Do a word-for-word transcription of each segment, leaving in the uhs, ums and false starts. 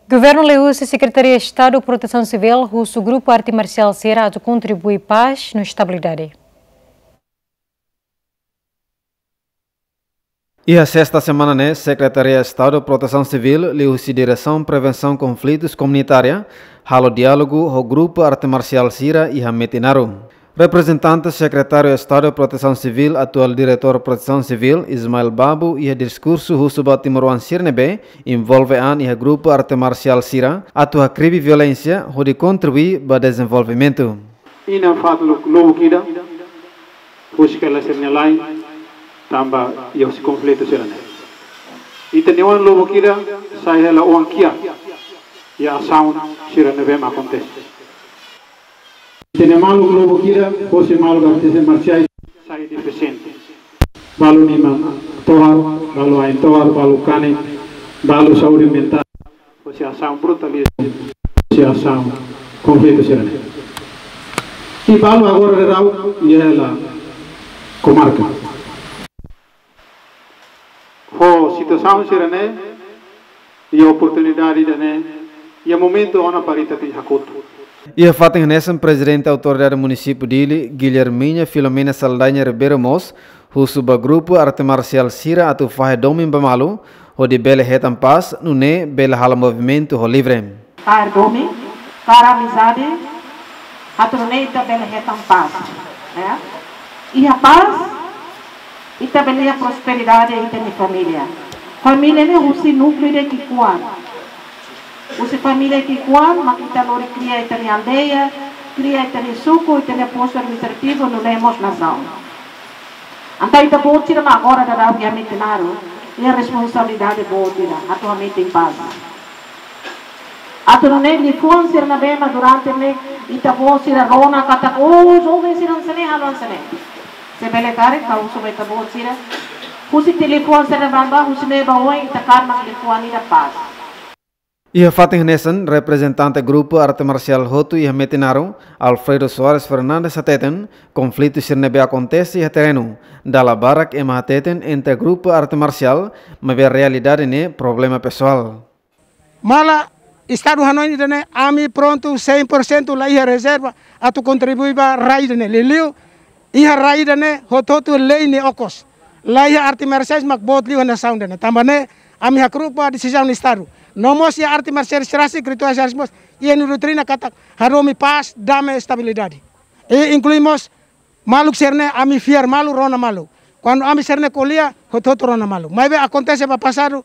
Governu liuhusi Sekretaria Estadu Protesaun Sivíl husu grupu arte marsiál sira atu kontribui pás no estabilidade. Iha sesta semana ne'e, Sekretaria Estadu Protesaun Sivíl liuhusi Diresaun Prevensaun Konflitus Komunitária halo diálogu ho grupu arte marsiál sira iha Metinaro. Reprezentante Sekretáriu Estadu Protesaun Sivíl, atuál Diretór Protesaun Sivíl, Ismael Babu, iha diskursu husu ba timoroan sira ne'ebé envolve an iha grupu arte marsiál sira atu hakribi violénsia hodi kontribui ba dezenvolvimentu. Inan fatuk lubuk ida, husik hela sira-nia la'en, tanba iha husi konflitu sira-ne'e. Ita-nia oan lubuk ida sai hela oan kiak iha asaun sira ne'ebé mak akontese. Ita-nia maluk lubuk ida, husi maluk arte marsiais sai defisiente. Balu liman tohar, balu ain tohar, balu kanek, balu saúde mentál, husi asaun brutalizmu, husi asaun konflitu sira-ne'e. I balu agora daudaun iha hela komarka. Ho situasaun sira-ne'e, iha oportunidade ida-ne'e, iha momentu ona para ita tenke hakotu. Iha fatin hanesan, Prezidente Autoridade Munisípiu Dili, Guilhermina Filomena Saldanha Ribeiro mós husu ba grupu arte marsiál sira atu fahe domin ba malu, hodi bele hetan pás, nune'e bele halo movimentu ho livre. Kaer domin, kaer amizade, atu nune'e ita bele hetan pás, ya. Iha pás, ita bele iha prosperidade ita-nia família. Família ne'e husi núkleu ida ki'ikoan. Husi família ki'ikoan, mak ita lori kria ita-nia aldeia, kria ita-nia suku, ita-nia postu administrativu, nune'e mós nasaun. Entaun ita-boot sira mak agora daudaun iha Metinaro, iha responsabilidade boot ida, atu hametin pás. Atu nune'e liafuan sira ne'ebé mak durante ne'e ita-boot sira rona katak, oh, joven sira hanesan ne'e, halo hanesan ne'e. Se bele karik, ha'u husu ba ita-boot sira. Husi tiha liafuan sira ne'ebá, husi ne'e ba oin, ita kaer mak liafuan ida pás. Iha fatin hanesan, reprezentante grupu arte marsiál hotu iha Metinaro, Alfredo Soares Fernandes hateten, konflitu sira ne'ebé akontese iha terrenu, dala barak ema hateten entre grupu arte marsiál, maibé realidade ne'e problema pesoál. Maibé Estadu hanoin ida-ne'e, ami prontu cem por cento, la iha rezerva atu kontribui ba rai ida-ne'e. Liuliu iha rai ida-ne'e hotu-hotu lei nia okos. La iha arte marsiais mak boot liu iha nasaun ida-ne'e. Tanba ne'e ami hakru'uk ba desizaun Estadu. No mós iha arte marsiais rasik, rituais rasik mós, iha nia doutrina katak hadomi pás, dame, estabilidade. I inklui mós maluk sira-ne'e, ami fiar malu, rona malu. Kuandu ami sira-ne'e ko'alia, hotu-hotu rona malu. Maibé akontese ba pasadu,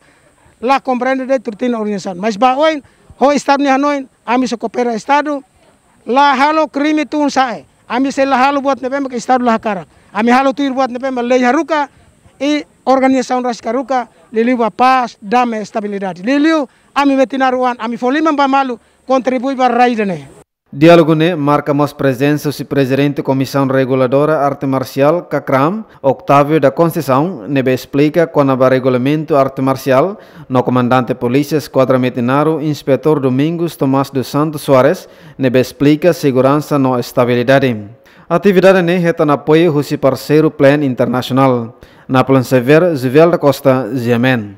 la komprende de'it doutrina organizasaun. Mas ba oin, ho Estadu nia hanoin, ami sei koopera Estadu, la halo krime tun-sa'e. Ami sei la halo buat ne'ebé mak Estadu la hakarak. Ami halo tuir buat ne'ebé mak lei haruka, i organizasaun rasik haruka, liuliu ba pás, dame, estabilidade. Liuliu, ami Metinaroan, ami fó liman ba malu, kontribui ba rai ida-ne'e. Diálogu ne'e marka mós prezensa husi Prezidente Komisaun Reguladora Arte Marsiál, KAKRAM, Octávio da Conceição, ne'ebé esplika kona-ba regulamentu arte marsiál, no Komandante Polísia Eskuadra Metinaro, Inspetór Domingos Tomás dos Santos Soares, ne'ebé esplika seguransa no estabilidade. Atividade ne'e hetan apoiu husi parseiru Plan Internasionál. Napoleon Xavier, Juvel da Costa, G M N.